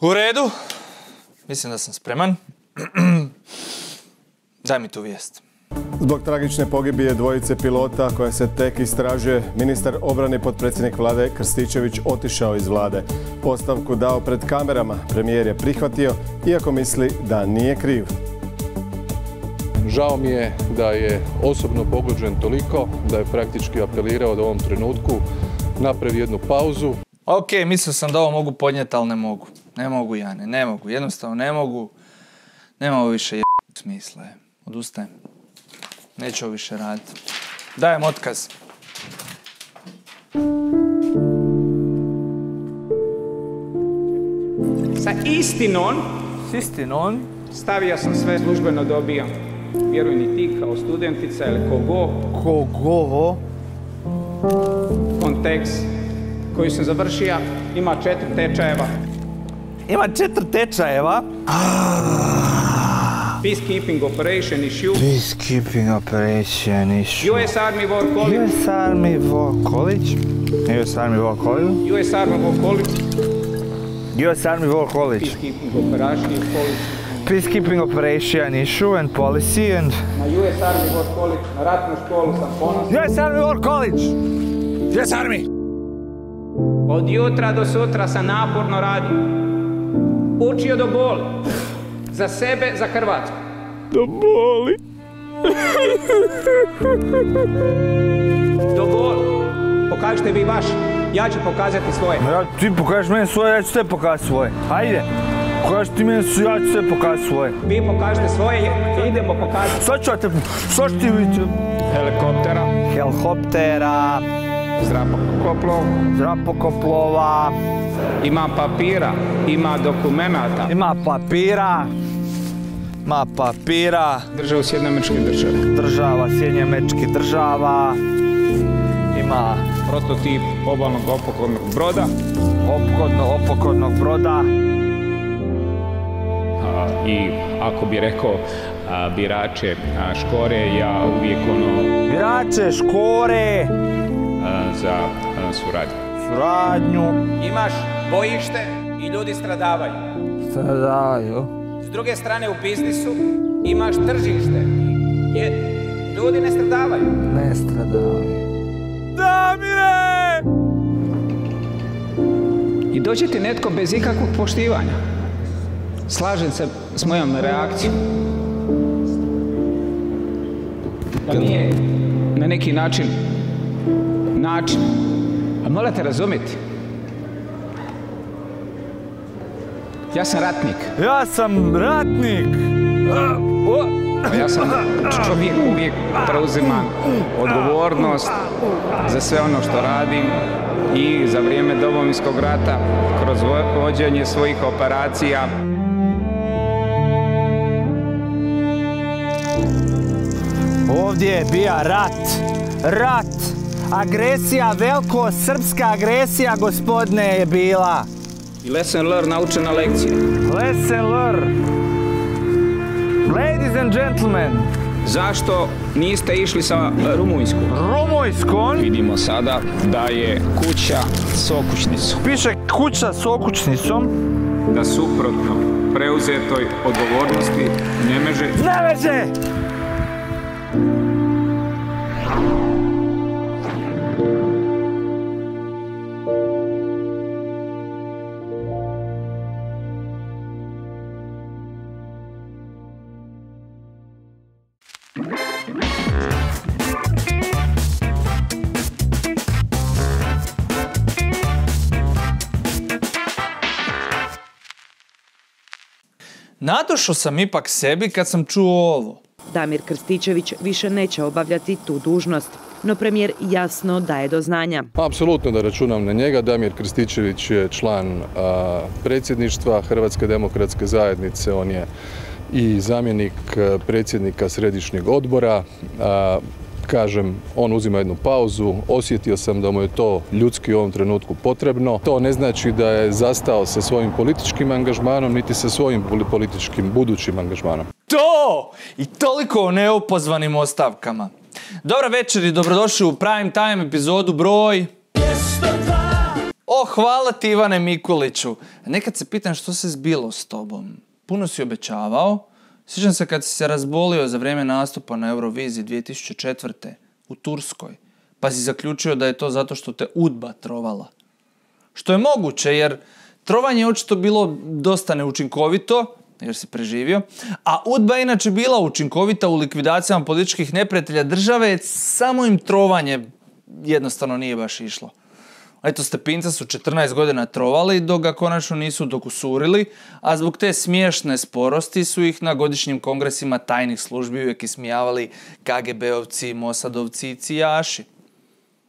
U redu. Mislim da sam spreman. Daj mi tu vijest. Zbog tragične pogibije dvojice pilota koja se tek istražuje, ministar obrane i potpredsjednik vlade Krstičević otišao iz vlade. Ostavku dao pred kamerama, premijer je prihvatio, iako misli da nije kriv. Žao mi je da je osobno pogođen toliko da je praktički apelirao da u ovom trenutku napravi jednu pauzu. Ok, mislio sam da ovo mogu podnijeti, ali ne mogu. Ne mogu, Jane, ne mogu. Jednostavno ne mogu. Nema ovo više smisla. Odustajem. Neću ovo više raditi. Dajem otkaz. Sa istinom. S istinom? Stavio sam sve, službeno dobijam. Vjeruj ni ti kao studentica ili kogo. Kogo? Kontekst koji sam završio ima 4 tečajeva. Ima 4 tečajeva? Peacekeeping Operation Issue. Peacekeeping Operation Issue. US Army War College. US Army War College. US Army War College. US Army War College. US Army War College. Peacekeeping Operation Policy. Peacekeeping Operation Issue and Policy and... Na US Army War College, na ratnu školu sam ponosan. US Army War College! US Army! Od jutra do sutra sam naporno radio. Učio do boli. Za sebe, za Hrvatsku. Do boli. Do boli. Pokažite vi vaš, ja ću pokazati svoje. Ti pokažeš meni svoje, ja ću sve pokazati svoje. Hajde. Pokaži ti meni svoje, ja ću sve pokazati svoje. Vi pokažite svoje, idemo pokazati. Sad ću ja te... Sad ću ti vidjeti. Helikoptera. Helikoptera. Zrakoplova. Ima papira, ima dokumenata. Ima papira. Ima papira. Država Sjedinjenih Američkih Država. Država Sjedinjenih Američkih Država. Ima prototip obalnog ophodnog broda. Ophodnog broda. I ako bi rekao birače Škore, ja uvijek Birače Škore! Za suradnju. Suradnju. Imaš bojište i ljudi stradavaju. Stradavaju. S druge strane u biznisu imaš tržište. Ljudi ne stradavaju. Ne stradavaju. Damire! I dođe ti netko bez ikakvog poštivanja. Slažem se s mojom reakcijom. Da nije na neki način, a morate razumjeti. Ja sam ratnik. Ja sam ratnik! Ja sam čovjek, uvijek preuzimam odgovornost za sve ono što radim i za vrijeme Domovinskog rata kroz vođenje svojih operacija. Ovdje je bio rat, agresija, veliko srpska agresija, gospodine, je bila. I lesson learned, naučena lekcija. Lesson learned. Ladies and gentlemen. Zašto niste išli sa Rumunjskom? Rumunjskom? Vidimo sada da je kuća s okućnicom. Piše kuća s okućnicom. Da suprotno preuzetoj odgovornosti ne može... Nadošao sam ipak sebi kad sam čuo ovo. Damir Krstičević više neće obavljati tu dužnost, no premijer jasno daje do znanja. Apsolutno da računam na njega. Damir Krstičević je član predsjedništva Hrvatske demokratske zajednice, on je i zamjenik predsjednika središnjeg odbora. Kažem, on uzima jednu pauzu, osjetio sam da mu je to ljudski u ovom trenutku potrebno. To ne znači da je zastao sa svojim političkim angažmanom, niti sa svojim političkim budućim angažmanom. To! I toliko o neopozvanim ostavkama. Dobra večer i dobrodošli u Prime Time epizodu broj... O, hvala ti Ivane Mikuliću. Nekad se pitam što se zbilo s tobom. Puno si obećavao. Sjećam se kad si se razbolio za vrijeme nastupa na Euroviziji 2004. u Turskoj. Pa si zaključio da je to zato što te UDBA trovala. Što je moguće, jer trovanje je očito bilo dosta neučinkovito, jer si preživio, a UDBA je inače bila učinkovita u likvidacijama političkih neprijatelja države, samo im trovanje jednostavno nije baš išlo. Eto, Stepinca su 14 godina trovali dok ga konačno nisu dokusurili, a zbog te smiješne sporosti su ih na godišnjim kongresima tajnih službi uvijek ismijavali KGB-ovci, Mosadovci i cijaši.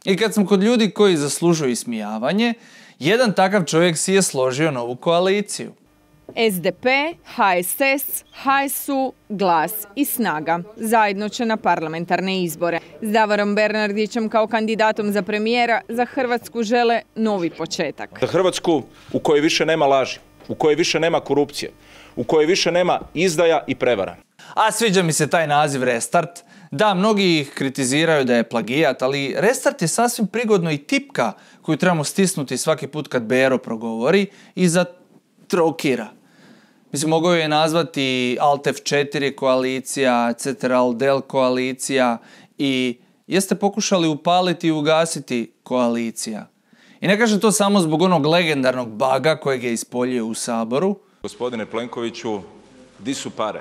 I kad smo kod ljudi koji zaslužuju ismijavanje, jedan takav čovjek si je složio novu koaliciju. SDP, HSS, HSU, GLAS i SNAGA zajedno će na parlamentarne izbore. S Davorom Bernardićem kao kandidatom za premijera za Hrvatsku žele novi početak. Za Hrvatsku u kojoj više nema laži, u kojoj više nema korupcije, u kojoj više nema izdaja i prevara. A sviđa mi se taj naziv Restart. Da, mnogi ih kritiziraju da je plagijat, ali Restart je sasvim prigodno i tipka koju trebamo stisnuti svaki put kad Bero progovori i zatrokira. Mislim, mogao je nazvati Alt F4 koalicija, Ctrl Del koalicija i jeste pokušali upaliti i ugasiti koalicija. I ne kažem to samo zbog onog legendarnog baga kojeg je ispoljio u Saboru. Gospodine Plenkoviću, di su pare?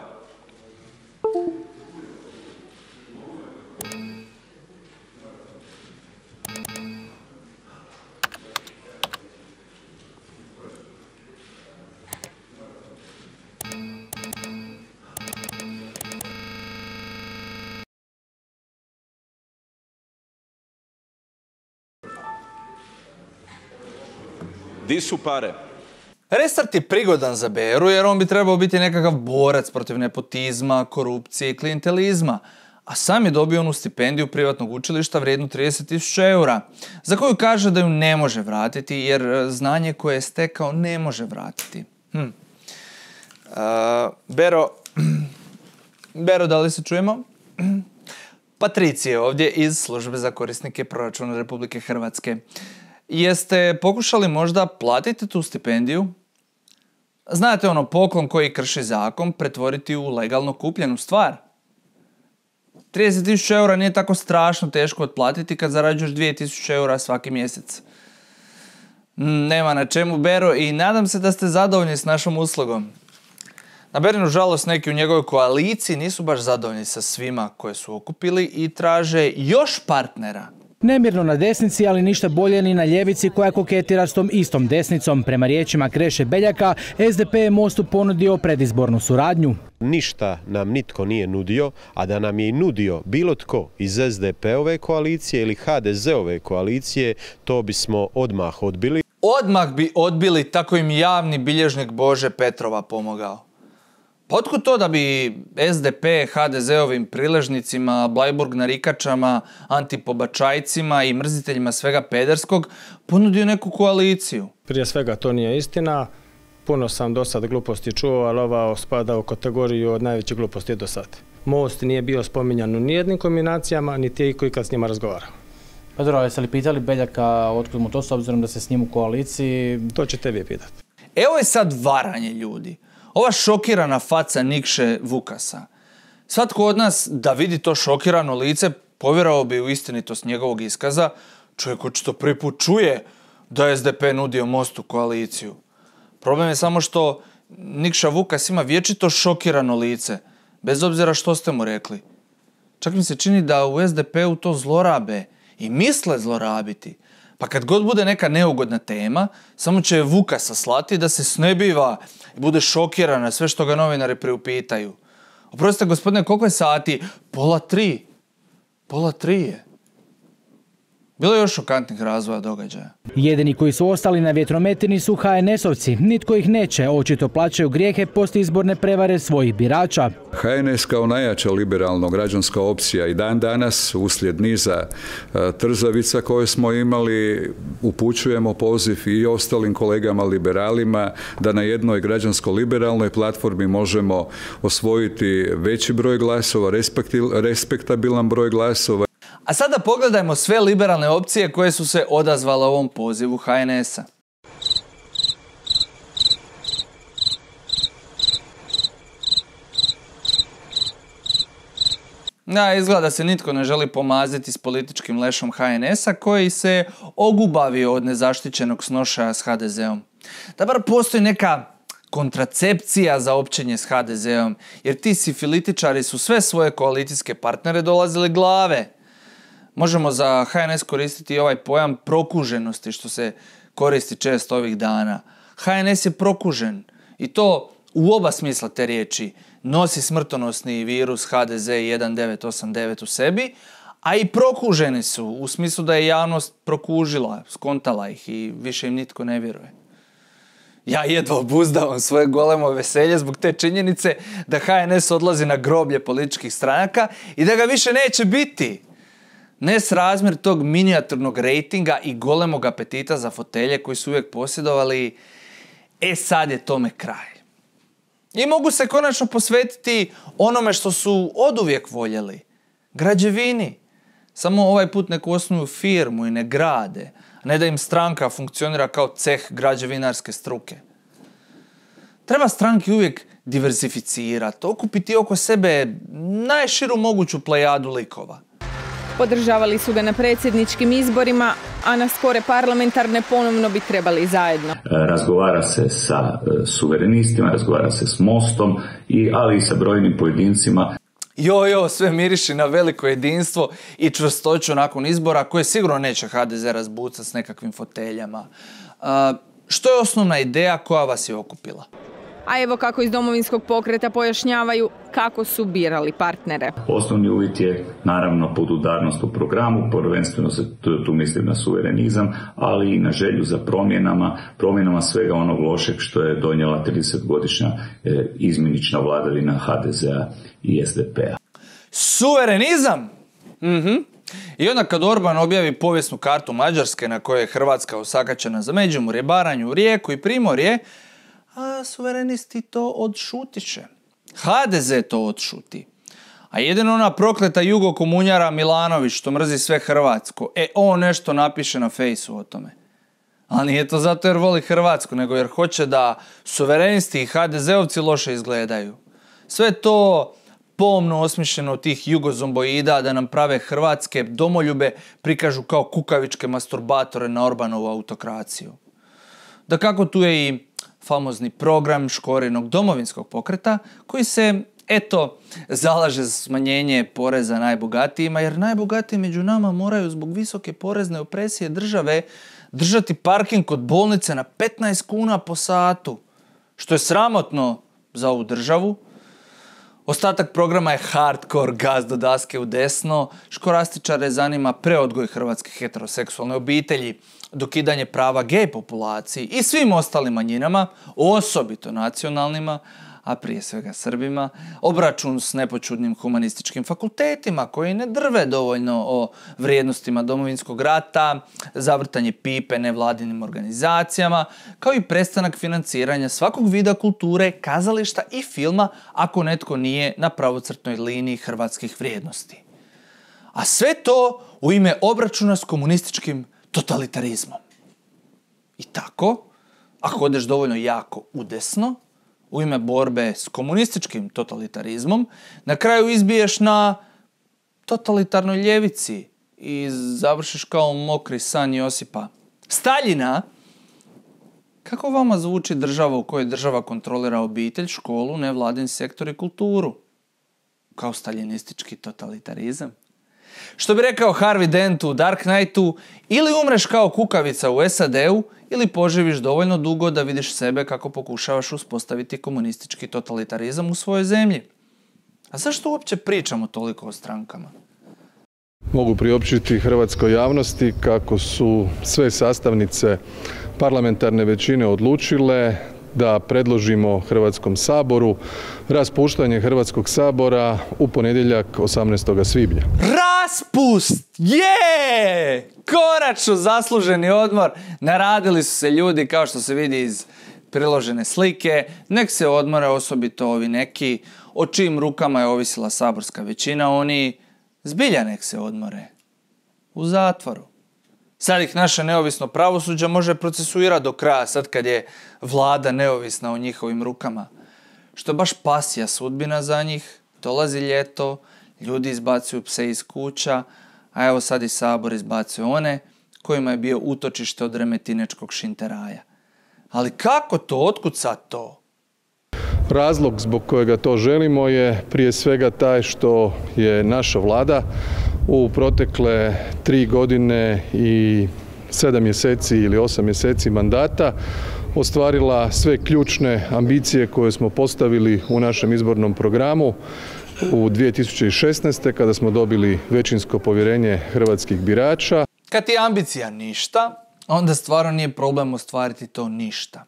Di su pare? Restart je prigodan za Beru jer on bi trebao biti nekakav borac protiv nepotizma, korupcije i klijentelizma, a sam je dobio onu stipendiju privatnog učilišta vrijednu 30.000 eura, za koju kaže da ju ne može vratiti jer znanje koje je stekao ne može vratiti. Bero, da li se čujemo? Patricija je ovdje iz Službe za korisnike proračuna Republike Hrvatske. Jeste pokušali možda platiti tu stipendiju? Znate ono, poklon koji krši zakon pretvoriti u legalno kupljenu stvar. 30.000 eura nije tako strašno teško otplatiti kad zarađuješ 2.000 eura svaki mjesec. Nema na čemu, Bero, i nadam se da ste zadovoljni s našom uslugom. Na Berinu žalost neki u njegovoj koaliciji nisu baš zadovoljni sa svima koje su okupili i traže još partnera. Nemirno na desnici, ali ništa bolje ni na ljevici koja koketira s tom istom desnicom. Prema riječima Kreše Beljaka, SDP je Mostu ponudio predizbornu suradnju. Ništa nam nitko nije nudio, a da nam je i nudio bilo tko iz SDP-ove koalicije ili HDZ-ove koalicije, to bismo odmah odbili. Odmah bi odbili, tako im javni bilježnik Bože Petrova pomogao. Pa otkud to da bi SDP HDZ-ovim priležnicima, Blajburg narikačama, antipobačajcima i mrziteljima svega pederskog ponudio neku koaliciju? Prije svega to nije istina. Puno sam do sad gluposti čuo, ali ova spada u kategoriju od najvećih gluposti do sad. Most nije bio spominjan u nijednim kombinacijama, niti je iko ikad s njima razgovarao. Pa dobro, jeste li pitali Beljaka otkud mu to s obzirom da se s njim u koaliciji? To ćete vi pitati. Evo je sad varanje ljudi. Ova šokirana faca Nikše Vukasa. Svatko od nas da vidi to šokirano lice povjerovao bi u istinitost njegovog iskaza. Čovjek očito prvi put čuje da je SDP nudio Mostu koaliciju. Problem je samo što Nikša Vukas ima vječito šokirano lice, bez obzira što ste mu rekli. Čak mi se čini da u SDP-u to zlorabe i misle zlorabiti. Pa kad god bude neka neugodna tema, samo će Vukasa slati da se snebiva i bude šokiran na sve što ga novinari priupitaju. Oprostite, gospodine, koliko je sati? 2:30. 2:30 je. Bilo je još šokantnih razvoja događaja. Jedini koji su ostali na vjetrometini su HNS-ovci. Nitko ih neće, očito plaćaju grijehe postizborne prevare svojih birača. HNS kao najjača liberalno građanska opcija i dan danas uslijed niza trzavica koje smo imali upućujemo poziv i ostalim kolegama liberalima da na jednoj građansko-liberalnoj platformi možemo osvojiti veći broj glasova, respektabilan broj glasova. A sada pogledajmo sve liberalne opcije koje su se odazvale ovom pozivu HNS-a. Izgleda da se nitko ne želi pomaziti s političkim lešom HNS-a koji se ogubavio od nezaštićenog snošaja s HDZ-om. Da bar postoji neka kontracepcija za općenje s HDZ-om, jer ti sifilitičari su sve svoje koalicijske partnere dolazili glave. Možemo za HNS koristiti i ovaj pojam prokuženosti što se koristi često ovih dana. HNS je prokužen i to u oba smisla te riječi. Nosi smrtonosni virus HDZ 1989 u sebi, a i prokuženi su u smislu da je javnost prokužila, skontala ih i više im nitko ne vjeruje. Ja jedva obuzdavam svoje golemo veselje zbog te činjenice da HNS odlazi na groblje političkih stranaka i da ga više neće biti. Nesrazmjer tog minijaturnog rejtinga i golemog apetita za fotelje koji su uvijek posjedovali, sad je tome kraj. I mogu se konačno posvetiti onome što su oduvijek voljeli. Građevini. Samo ovaj put neku osnuju firmu i ne grade, a ne da im stranka funkcionira kao ceh građevinarske struke. Treba stranki uvijek diversificirati, okupiti oko sebe najširu moguću plejadu likova. Podržavali su ga na predsjedničkim izborima, a na skore parlamentarne ponovno bi trebali zajedno. Razgovara se sa suverenistima, razgovara se s Mostom, ali i sa brojnim pojedincima. Sve miriši na veliko jedinstvo i čvrstoću nakon izbora koje sigurno neće HDZ razbucati s nekakvim foteljama. Što je osnovna ideja koja vas je okupila? A evo kako iz Domovinskog pokreta pojašnjavaju kako su birali partnere. Osnovni uvjet je naravno podudarnost u programu, prvenstveno se tu mislim na suverenizam, ali i na želju za promjenama svega onog lošeg što je donijela 30-godišnja izmjenična vladavina HDZ-a i SDP-a. Suverenizam? I onda kad Orban objavi povijesnu kartu Mađarske na kojoj je Hrvatska osakaćena za Međimurje, Baranju, Rijeku i Primorje, a suverenisti to odšutiše. HDZ to odšuti. A jedino ona prokleta jugokomunjara Milanović što mrzi sve hrvatsko, on nešto napiše na fejsu o tome. Ali nije to zato jer voli Hrvatsku, nego jer hoće da suverenisti i HDZ-ovci loše izgledaju. Sve to pomno osmišljeno od tih jugozomboida da nam prave hrvatske domoljube prikažu kao kukavičke masturbatore na Orbanovu autokraciju. Da kako tu je i famozni program Škorinog Domovinskog pokreta koji se, zalaže za smanjenje poreza najbogatijima, jer najbogatiji među nama moraju zbog visoke porezne opresije države držati parking kod bolnice na 15 kuna po satu, što je sramotno za ovu državu. Ostatak programa je hardcore gaz do daske u desno, škorastičare zanima preodgoj hrvatske heteroseksualne obitelji, dokidanje prava gej populaciji i svim ostalim manjinama, osobito nacionalnima, a prije svega Srbima, obračun s nepočudnim humanističkim fakultetima koji ne drve dovoljno o vrijednostima Domovinskog rata, zavrtanje pipe nevladinim organizacijama, kao i prestanak financiranja svakog vida kulture, kazališta i filma ako netko nije na pravocrtnoj liniji hrvatskih vrijednosti. A sve to u ime obračuna s komunističkim totalitarizmom. I tako, ako odeš dovoljno jako udesno, u ime borbe s komunističkim totalitarizmom, na kraju izbiješ na totalitarnoj ljevici i završiš kao mokri san Josipa Staljina. Kako vama zvuči država u kojoj država kontrolira obitelj, školu, nevladin sektor i kulturu? Kao staljinistički totalitarizam? Što bi rekao Harvey Dent u Dark Knightu, ili umreš kao kukavica u SAD-u, ili poživiš dovoljno dugo da vidiš sebe kako pokušavaš uspostaviti komunistički totalitarizam u svojoj zemlji. A zašto uopće pričamo toliko o strankama? Mogu priopćiti hrvatskoj javnosti kako su sve sastavnice parlamentarne većine odlučile da predložimo Hrvatskom saboru raspuštanje Hrvatskog sabora u ponedjeljak 18. svibnja. Raspust! Konačno zasluženi odmor. Naradili su se ljudi kao što se vidi iz priložene slike. Nek se odmore, osobito ovi neki o čijim rukama je ovisila saborska većina. Oni zbilja nek se odmore. u zatvoru. Sad ih naše neovisno pravosuđe može procesuirati do kraja, sad kad je vlada neovisna u njihovim rukama. Što je baš pasija sudbina za njih, dolazi ljeto, ljudi izbacuju pse iz kuća, a evo sad i Sabor izbacuje one kojima je bio utočište od remetinečkog šinteraja. Ali kako to? Otkud sad to? Razlog zbog kojega to želimo je prije svega taj što je naša vlada u protekle 3 godine i 7 mjeseci ili 8 mjeseci mandata ostvarila sve ključne ambicije koje smo postavili u našem izbornom programu u 2016. kada smo dobili većinsko povjerenje hrvatskih birača. Kad je ambicija ništa, onda stvarno nije problem ostvariti to ništa.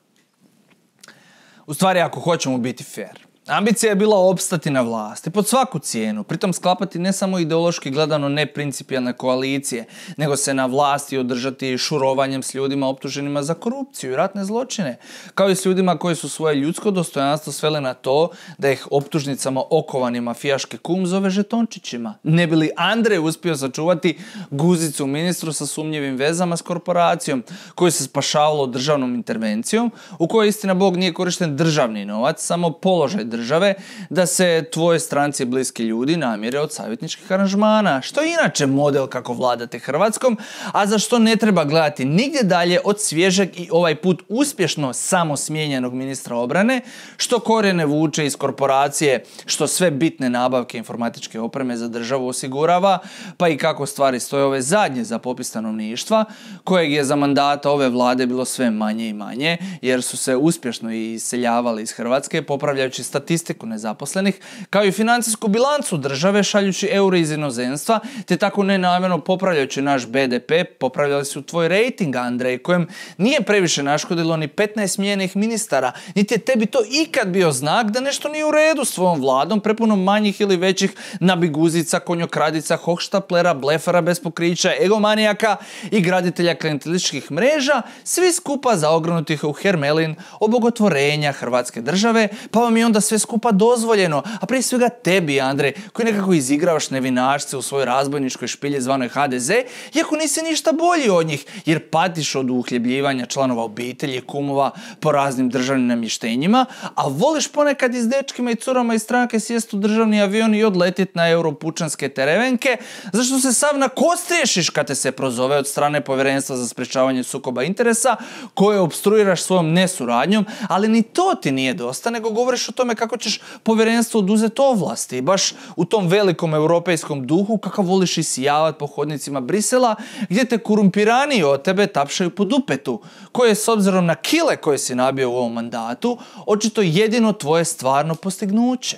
U stvari, ako hoćemo biti fair, ambicija je bila opstati na vlasti pod svaku cijenu, pritom sklapati ne samo ideološki gledano neprincipijalne koalicije, nego se na vlasti održati šurovanjem s ljudima optuženima za korupciju i ratne zločine, kao i s ljudima koji su svoje ljudsko dostojanstvo sveli na to da ih optužnicama okovani mafijaški kum zove žetončićima. Ne bi li Andrej uspio sačuvati guzicu ministru sa sumnjivim vezama s korporacijom, koju se spašavalo državnom intervencijom, u kojoj istina Bog nije korišten državni novac, samo položaj države, da se tvoje stranci bliski ljudi namire od savjetničkih aranžmana, što je inače model kako vladate Hrvatskom, a za što ne treba gledati nigdje dalje od svježeg i ovaj put uspješno samo smijenjenog ministra obrane, što korijene vuče iz korporacije, što sve bitne nabavke informatičke opreme za državu osigurava, pa i kako stvari stoje ove zadnje za popis stanovništva, kojeg je za mandata ove vlade bilo sve manje i manje, jer su se uspješno iseljavali iz Hrvatske, popravljajući statistiku nezaposlenih, kao i financijsku bilancu države šaljući eure iz inozemstva, te tako nenamjerno popravljajući naš BDP, popravljali su tvoj rejting, Andrej, kojem nije previše naškodilo ni 15 smijenjenih ministara, niti je tebi to ikad bio znak da nešto nije u redu s tvojom vladom, prepuno manjih ili većih nabiguzica, konjokradica, hohštaplera, blefara bez pokrića, egomanijaka i graditelja klijentelističkih mreža, svi skupa zaogrnutih u hermelin obogotvorenja Hrvatske države, pa vam je onda sve skupa dozvoljeno, a prije svega tebi, Andrej, koji nekako izigravaš nevinašce u svojoj razbojničkoj špilji zvanoj HDZ, iako nisi ništa bolji od njih, jer patiš od uhljebljivanja članova obitelji, kumova po raznim državnim namještenjima, a voliš ponekad i s dečkima i curama iz stranke sjest u državni avion i odletit na europučanske terevenke, zašto se sav nakostriješiš kad te se prozove od strane Povjerenstva za sprečavanje sukoba interesa, koje opstruiraš svojom nesuradnjom, ali ni to ti nije dosta, nego govoriš o tome kako ćeš povjerenstvo oduzeti ovlasti. Baš u tom velikom europejskom duhu kakav voliš isijavat po hodnicima Brisela, gdje te korumpiraniji od tebe tapšaju po dupetu, koje je s obzirom na kile koje si nabio u ovom mandatu, očito jedino tvoje stvarno postignuće.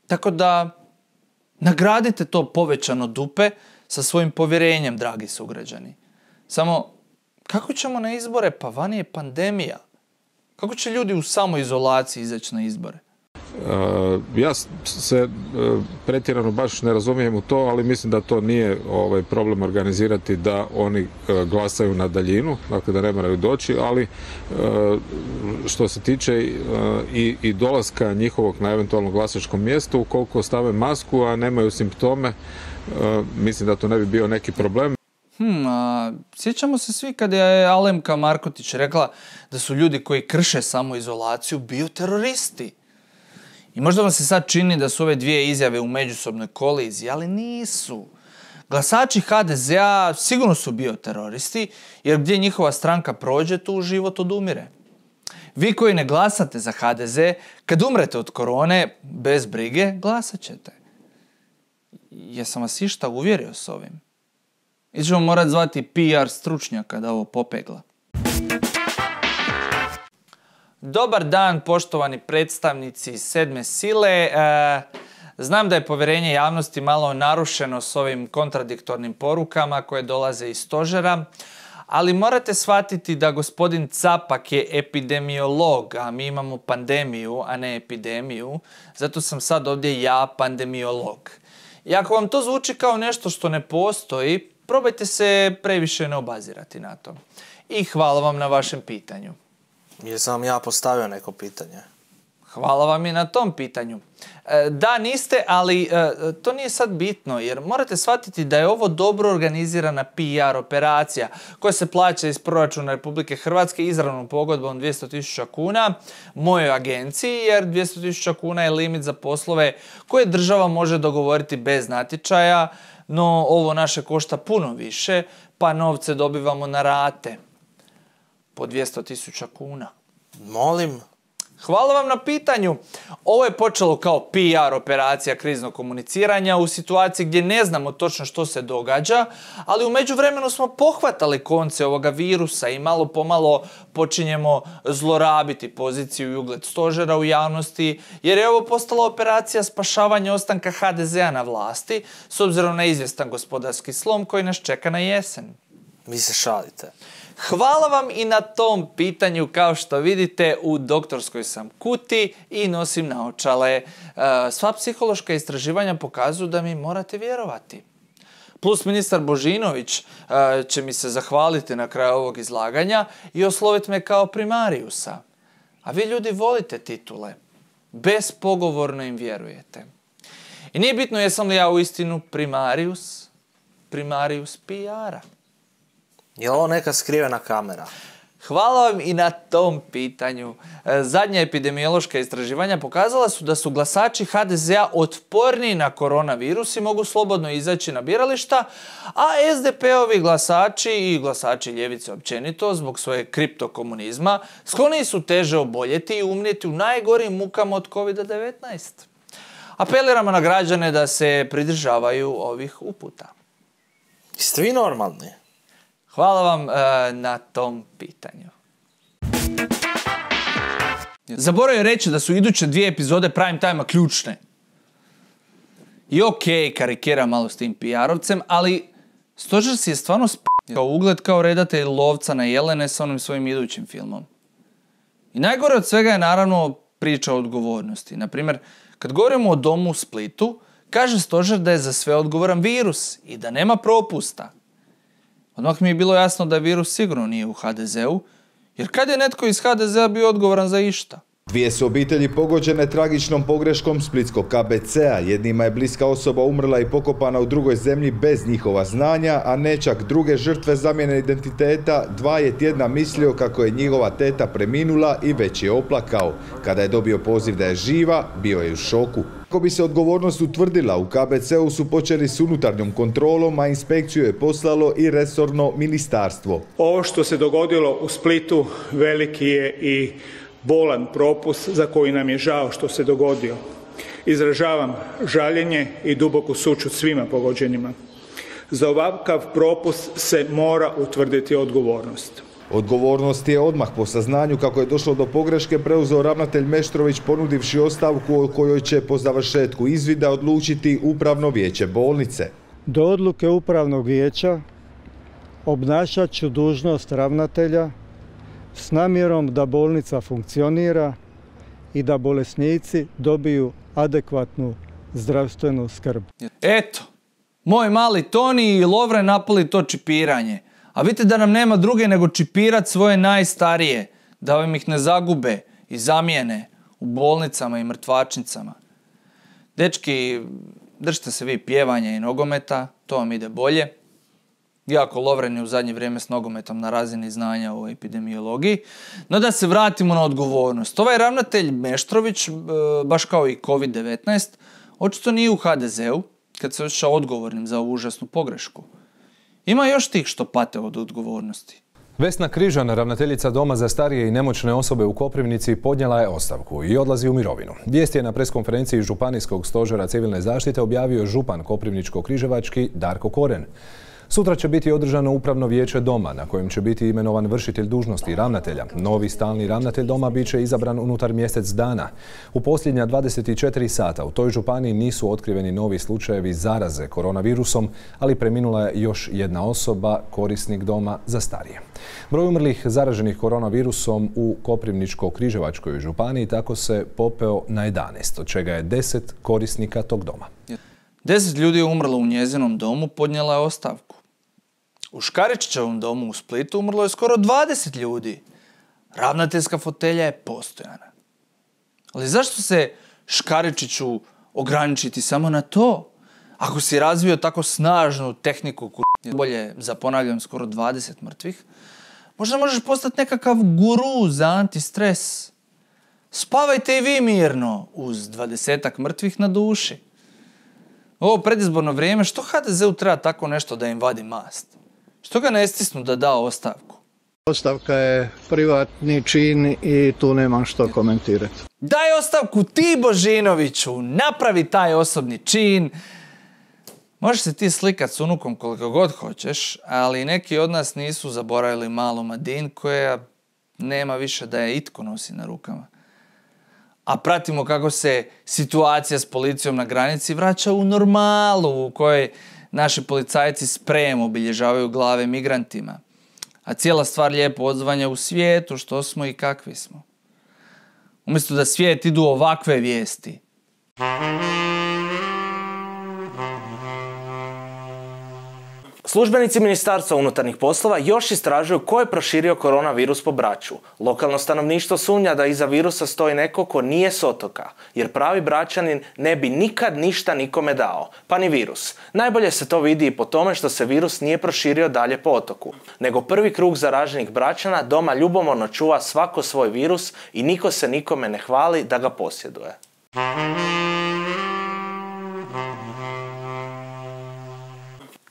Tako da, nagradite to povećano dupe sa svojim povjerenjem, dragi sugrađani. Samo, kako ćemo na izbore? Pa vani je pandemija. Kako će ljudi u samoizolaciji izaći na izbore? Ja se pretjerano baš ne razumijem u to, ali mislim da to nije problem organizirati da oni glasaju na daljinu, dakle da ne moraju doći, ali što se tiče i dolaska njihovog na eventualno glasačkom mjestu, ukoliko stave masku, a nemaju simptome, mislim da to ne bi bio neki problem. Sjećamo se svi kada je Alemka Markotić rekla da su ljudi koji krše samoizolaciju bioteroristi. I možda vam se sad čini da su ove dvije izjave u međusobnoj koliziji, ali nisu. Glasači HDZ-a sigurno su bioteroristi, jer gdje njihova stranka prođe, tu život odumire. Vi koji ne glasate za HDZ, kad umrete od korone, bez brige, glasat ćete. Jesam vas išta uvjerio s ovim? I ćemo morati zvati PR stručnjaka da ovo popegla. Dobar dan, poštovani predstavnici sedme sile. Znam da je povjerenje javnosti malo narušeno s ovim kontradiktornim porukama koje dolaze iz stožera, ali morate shvatiti da gospodin Capak je epidemiolog, a mi imamo pandemiju, a ne epidemiju. Zato sam sad ovdje ja pandemiolog. I ako vam to zvuči kao nešto što ne postoji, probajte se previše ne obazirati na to. I hvala vam na vašem pitanju. Jesam vam ja postavio neko pitanje? Hvala vam i na tom pitanju. Da, niste, ali to nije sad bitno, jer morate shvatiti da je ovo dobro organizirana PR operacija koja se plaća iz proračuna Republike Hrvatske izravnom pogodbom 200.000 kuna mojoj agenciji, jer 200.000 kuna je limit za poslove koje država može dogovoriti bez natječaja, no ovo naše košta puno više, pa novce dobivamo na rate po 200.000 kuna. Molim? Hvala vam na pitanju. Ovo je počelo kao PR operacija kriznog komuniciranja u situaciji gdje ne znamo točno što se događa, ali u međuvremenu smo pohvatali konce ovoga virusa i malo pomalo počinjemo zlorabiti poziciju i ugled stožera u javnosti, jer je ovo postala operacija spašavanja ostanka HDZ-a na vlasti s obzirom na izvjestan gospodarski slom koji nas čeka na jesen. Vi se šalite. Hvala vam i na tom pitanju. Kao što vidite, u doktorskoj sam kuti i nosim naočale. Sva psihološka istraživanja pokazuju da mi morate vjerovati. Plus ministar Božinović će mi se zahvaliti na kraju ovog izlaganja i osloviti me kao primariusa. A vi ljudi volite titule. Bespogovorno im vjerujete. I nije bitno jesam li ja uistinu primarius PR-a. Je li ovo neka skrivena kamera? Hvala vam i na tom pitanju. Zadnja epidemiološka istraživanja pokazala su da su glasači HDZ-a otporniji na koronavirus i mogu slobodno izaći na birališta, a SDP-ovi glasači i glasači ljevice općenito zbog svoje kriptokomunizma skloni su teže oboljeti i umrijeti u najgorim mukama od COVID-19. Apeliramo na građane da se pridržavaju ovih uputa. Jeste vi normalni? Hvala vam na tom pitanju. Zaboravio reći da su iduće 2 epizode Prime Time-a ključne. I okej, karikiram malo s tim PR-ovcem, ali stožer si je stvarno kao ugled kao redatelj lovca na jelene sa onim svojim idućim filmom. I najgore od svega je naravno priča o odgovornosti. Naprimjer, kad govorimo o domu u Splitu, kaže stožer da je za sve odgovoran virus i da nema propusta. Odmah mi je bilo jasno da virus sigurno nije u HDZ-u, jer kad je netko iz HDZ-a bio odgovoran za išta? 2 su obitelji pogođene tragičnom pogreškom splitskog KBC-a. Jednima je bliska osoba umrla i pokopana u drugoj zemlji bez njihova znanja, a ne čak druge žrtve zamjene identiteta. 2 je tjedna mislio kako je njihova teta preminula i već je oplakao. Kada je dobio poziv da je živa, bio je u šoku. Kako bi se odgovornost utvrdila, u KBC-u su počeli s unutarnjom kontrolom, a inspekciju je poslalo i resorno ministarstvo. Ovo što se dogodilo u Splitu veliki je i bolan propust za koji nam je žao što se dogodio. Izražavam žaljenje i duboku sućut svima pogođenima. Za ovakav propust se mora utvrditi odgovornost. Odgovornost je odmah po saznanju kako je došlo do pogreške preuzeo ravnatelj Meštrović ponudivši ostavku o kojoj će po završetku izvida odlučiti upravno vijeće bolnice. Do odluke upravnog vijeća obnašat ću dužnost ravnatelja s namjerom da bolnica funkcionira i da bolesnici dobiju adekvatnu zdravstvenu skrb. Eto, moj mali Toni i Lovre napali to čipiranje. A vidite da nam nema druge nego čipirat svoje najstarije, da vam ih ne zagube i zamijene u bolnicama i mrtvačnicama. Dečki, držite se vi pjevanja i nogometa, to vam ide bolje. Jako Lovren je u zadnje vrijeme s nogometom na razini znanja o epidemiologiji. No da se vratimo na odgovornost. Ovaj ravnatelj Meštrović, baš kao i COVID-19, očito nije u HDZ-u kad se osjeća odgovornim za ovu užasnu pogrešku. Ima još tih što pate od odgovornosti. Vesna Križan, ravnateljica Doma za starije i nemoćne osobe u Koprivnici, podnijela je ostavku i odlazi u mirovinu. Vijest je na preskonferenciji Županijskog stožera civilne zaštite objavio župan Koprivničko-križevački Darko Koren. Sutra će biti održano upravno vijeće doma na kojem će biti imenovan vršitelj dužnosti ravnatelja. Novi stalni ravnatelj doma bit će izabran unutar mjesec dana. U posljednja 24 sata u toj županiji nisu otkriveni novi slučajevi zaraze koronavirusom, ali preminula je još jedna osoba, korisnik doma za starije. Broj umrlih zaraženih koronavirusom u Koprivničko-križevačkoj županiji tako se popeo na 11, od čega je 10 korisnika tog doma. 10 ljudi je umrlo u njezinom domu, podnijela je ostavku. U Škaričićevom domu u Splitu umrlo je skoro 20 ljudi. Ravnateljska fotelja je postojana. Ali zašto se Škaričiću ograničiti samo na to? Ako si razvio tako snažnu tehniku, bolje za, ponavljam, skoro 20 mrtvih, možda možeš postati nekakav guru za antistres. Spavajte i vi mirno uz 20-ak mrtvih na duši. Ovo predizborno vrijeme, što HDZ-u treba tako nešto da im vadi mast? Što ga ne stisnu da da ostavku? Ostavka je privatni čin i tu nemam što komentirati. Daj ostavku ti, Božinoviću, napravi taj osobni čin. Možeš se ti slikat s unukom koliko god hoćeš, ali neki od nas nisu zaboravili malu Madin koja nema više da je itko nosi na rukama. A pratimo kako se situacija s policijom na granici vraća u normalu u kojoj naši policajci sprejom obilježavaju glave migrantima. A cijela stvar lijepo odzvanja u svijetu što smo i kakvi smo. Umjesto da svijet idu ovakve vijesti. Službenici Ministarstva unutarnjih poslova još istražuju ko je proširio koronavirus po Braču. Lokalno stanovništvo sumnja da iza virusa stoji neko ko nije s otoka, jer pravi Bračanin ne bi nikad ništa nikome dao, pa ni virus. Najbolje se to vidi i po tome što se virus nije proširio dalje po otoku, nego prvi krug zaraženih Bračana doma ljubomorno čuva svako svoj virus i niko se nikome ne hvali da ga posjeduje.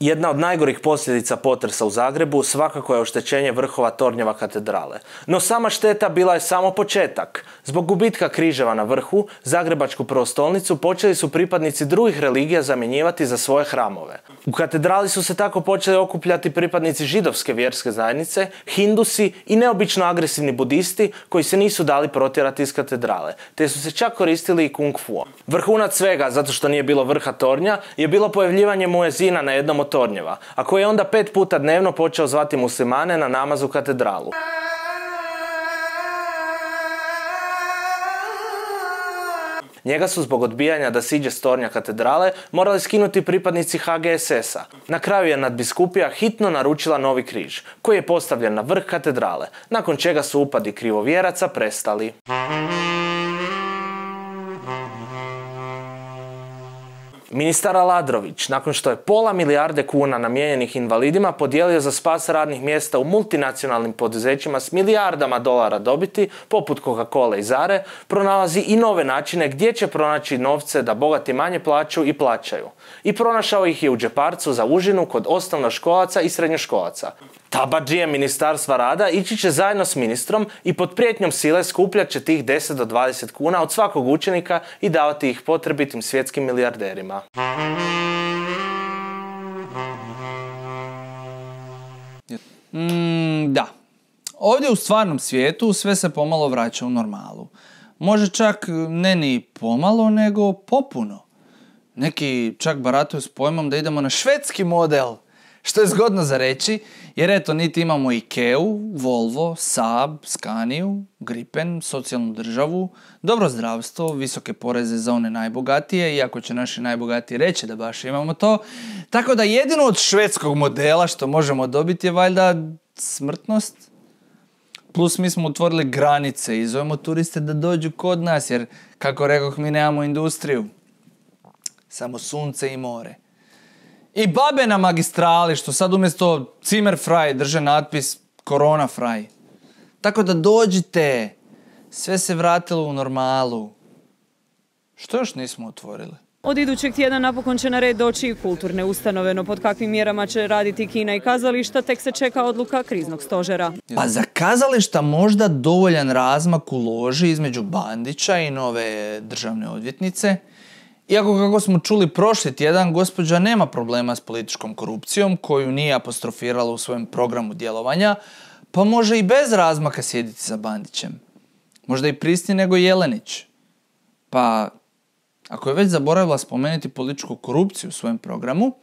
Jedna od najgorih posljedica potresa u Zagrebu svakako je oštećenje vrhova tornjeva katedrale. No sama šteta bila je samo početak. Zbog gubitka križeva na vrhu, Zagrebačku prestolnicu počeli su pripadnici drugih religija zamjenjivati za svoje hramove. U katedrali su se tako počeli okupljati pripadnici židovske vjerske zajednice, hindusi i neobično agresivni budisti koji se nisu dali protjerati iz katedrale, te su se čak koristili i kung fuom. Vrhunac svega, zato što nije bilo vrha tornja, je bilo pojavljivanje muezina na jednom od tornjeva, a koji je onda 5 puta dnevno počeo zvati muslimane na namaz u katedralu. Njega su zbog odbijanja da siđe s tornja katedrale morali skinuti pripadnici HGSS-a. Na kraju je nadbiskupija hitno naručila novi križ, koji je postavljen na vrh katedrale, nakon čega su upadi krivovjeraca prestali. Ministar Aladrović, nakon što je pola milijarde kuna namijenjenih invalidima podijelio za spas radnih mjesta u multinacionalnim poduzećima s milijardama dolara dobiti, poput Coca-Cola i Zare, pronalazi i nove načine gdje će pronaći novce da bogati manje plaću i plaćaju. I pronašao ih je u džeparcu za užinu kod osnovnoškolaca i srednjoškolaca. Tabadžije Ministarstva rada ići će zajedno s ministrom i pod prijetnjom sile skupljat će tih 10 do 20 kuna od svakog učenika i davati ih potrebitim svjetskim milijarderima. Da. Ovdje u stvarnom svijetu sve se pomalo vraća u normalu. Može čak ne ni pomalo, nego popuno. Neki čak barataju s pojmom da idemo na švedski model, što je zgodno za reći, jer eto niti imamo Ikeu, Volvo, Saab, Scaniu, Gripen, socijalnu državu, dobro zdravstvo, visoke poreze za one najbogatije, iako će naši najbogatiji reći da baš imamo to. Tako da jedino od švedskog modela što možemo dobiti je valjda smrtnost. Plus mi smo otvorili granice i zovemo turiste da dođu kod nas, jer kako rekoh mi nemamo industriju. Samo sunce i more. I babe na magistrali što sad umjesto Zimmerfrei drže natpis Coronafrei. Tako da dođite, sve se vratilo u normalu. Što još nismo otvorili? Od idućeg tjedna napokon će na red doći i kulturne ustanove, no pod kakvim mjerama će raditi kina i kazališta tek se čeka odluka kriznog stožera. Pa za kazališta možda dovoljan razmak u loži između Bandića i nove državne odvjetnice. Iako, kako smo čuli prošli tjedan, gospođa nema problema s političkom korupcijom koju nije apostrofirala u svojem programu djelovanja, pa može i bez razmaka sjediti sa Bandićem. Možda i prisnije nego Jelenić. Pa, ako je već zaboravila spomenuti političku korupciju u svojem programu,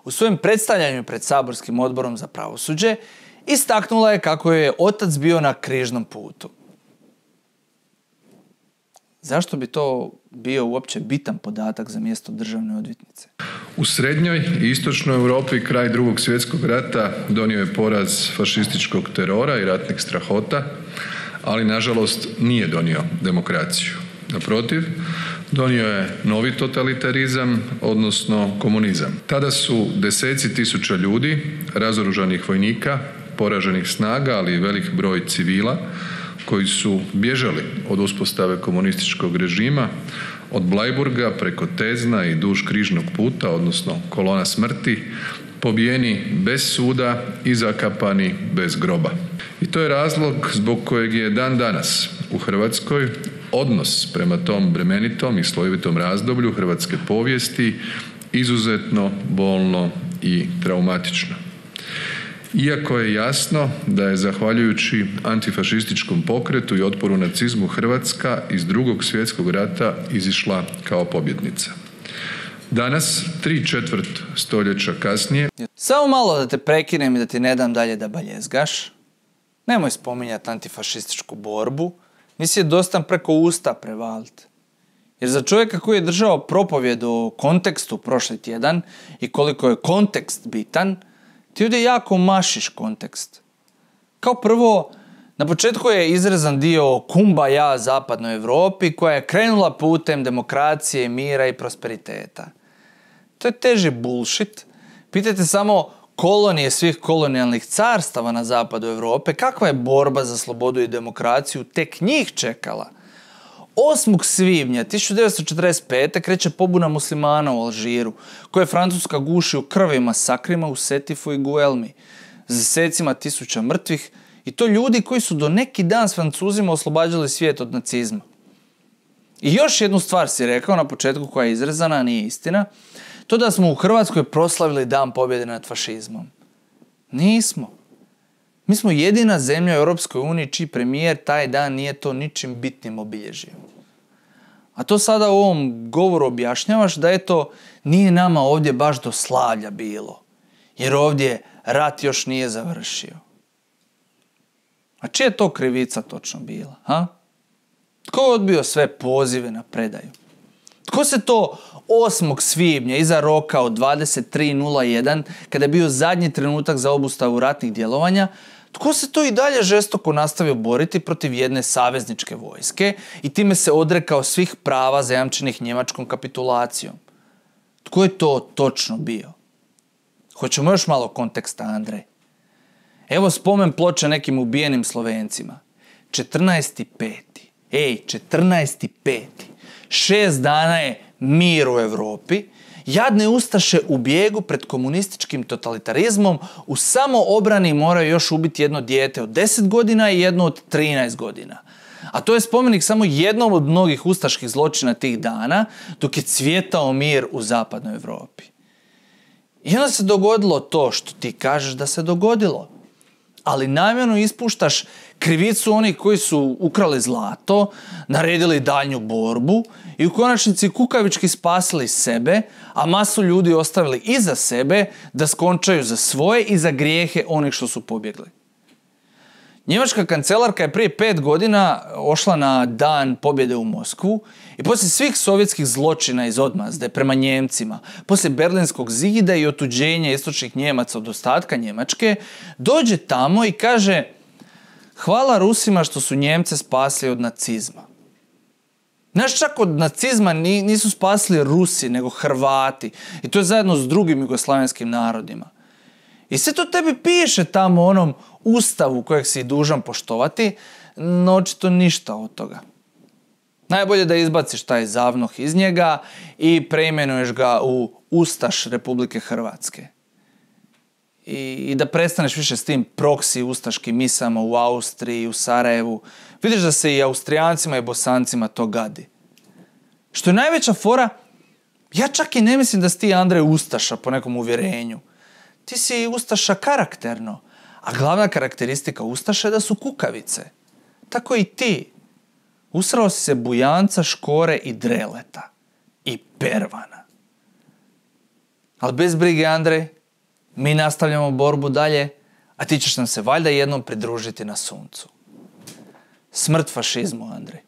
u svojem predstavljanju pred saborskim odborom za pravosuđe, istaknula je kako je otac bio na križnom putu. Zašto bi to bio uopće bitan podatak za mjesto državne odvjetnice? U srednjoj i istočnoj Europi kraj Drugog svjetskog rata donio je poraz fašističkog terora i ratnih strahota, ali nažalost nije donio demokraciju. Naprotiv, donio je novi totalitarizam, odnosno komunizam. Tada su deseci tisuća ljudi, razoružanih vojnika, poraženih snaga, ali i velik broj civila, koji su bježali od uspostave komunističkog režima, od Bleiburga preko Tezna i duž križnog puta, odnosno kolona smrti, pobijeni bez suda i zakapani bez groba. I to je razlog zbog kojeg je dan danas u Hrvatskoj odnos prema tom bremenitom i slojevitom razdoblju hrvatske povijesti izuzetno bolno i traumatično. Iako je jasno da je zahvaljujući antifašističkom pokretu i otporu nacizmu Hrvatska iz II. Svjetskog rata izišla kao pobjednica. Danas, 3/4 stoljeća kasnije... Samo malo da te prekinem i da ti ne dam dalje da baljezgaš. Nemoj spominjati antifašističku borbu, nisi je dostan preko usta prevaliti. Jer za čovjeka koji je držao propovjed o kontekstu prošli tjedan i koliko je kontekst bitan, ti ovdje jako mašiš kontekst. Kao prvo, na početku je izrezan dio Kumbaja zapadnoj Europi koja je krenula putem demokracije, mira i prosperiteta. To je teži bullshit. Pitajte samo kolonije svih kolonijalnih carstava na zapadu Europe, kakva je borba za slobodu i demokraciju tek njih čekala. 8. svibnja 1945. kreće pobuna muslimana u Alžiru, koje Francuska guši u krvi masakrima u Setifu i Guelmi, s desecima tisuća mrtvih, i to ljudi koji su do neki dan s Francuzima oslobađali svijet od nacizma. I još jednu stvar si rekao na početku koja je izrezana, a nije istina, to da smo u Hrvatskoj proslavili dan pobjede nad fašizmom. Nismo. Mi smo jedina zemlja u Europskoj uniji čiji premijer taj dan nije to ničim bitnim obilježio. A to sada u ovom govoru objašnjavaš da eto nije nama ovdje baš do slavlja bilo. Jer ovdje rat još nije završio. A čija je to krivica točno bila? Ha? Tko je odbio sve pozive na predaju? Tko se to 8. svibnja iza roka od 23:01, kada je bio zadnji trenutak za obustavu ratnih djelovanja, tko se to i dalje žestoko nastavio boriti protiv jedne savezničke vojske i time se odrekao svih prava zajamčenih njemačkom kapitulacijom? Tko je to točno bio? Hoćemo još malo konteksta, Andrej. Evo spomen ploče nekim ubijenim Slovencima. 14.5. 14.5. 6 dana je mir u Europi. Jadne ustaše u bijegu pred komunističkim totalitarizmom u samoobrani moraju još ubiti jedno dijete od 10 godina i jedno od 13 godina. A to je spomenik samo jednom od mnogih ustaških zločina tih dana, dok je cvjetao mir u zapadnoj Europi. I onda se dogodilo to što ti kažeš da se dogodilo. Ali namjerno ispuštaš krivicu onih koji su ukrali zlato, naredili daljnju borbu i u konačnici kukavički spasili sebe, a masu ljudi ostavili iza sebe da skončaju za svoje i za grijehe onih što su pobjegli. Njemačka kancelarka je prije 5 godina ošla na dan pobjede u Moskvu i poslije svih sovjetskih zločina iz odmazde prema Njemcima, poslije Berlinskog zida i otuđenja istočnih Njemaca od ostatka Njemačke, dođe tamo i kaže: hvala Rusima što su Njemce spasili od nacizma. Znaš, čak od nacizma nisu spasili Rusi, nego Hrvati. I to je zajedno s drugim jugoslavenskim narodima. I sve to tebi piše tamo u onom ustavu kojeg si dužan poštovati, no očito ništa od toga. Najbolje da izbaciš taj zavnoh iz njega i preimenuješ ga u Ustaš Republike Hrvatske. I da prestaneš više s tim proksi ustaškim misama u Austriji, u Sarajevu. Vidiš da se i Austrijancima i Bosancima to gadi. Što je najveća fora, ja čak i ne mislim da si ti, Andrej, ustaša po nekom uvjerenju. Ti si ustaša karakterno, a glavna karakteristika ustaša je da su kukavice. Tako i ti. Usrao si se Bujanca, Škore i Dreleta. I Pervana. Ali bez brige, Andrej, mi nastavljamo borbu dalje, a ti ćeš nam se valjda jednom pridružiti na suncu. Smrt fašizmu, Andrej.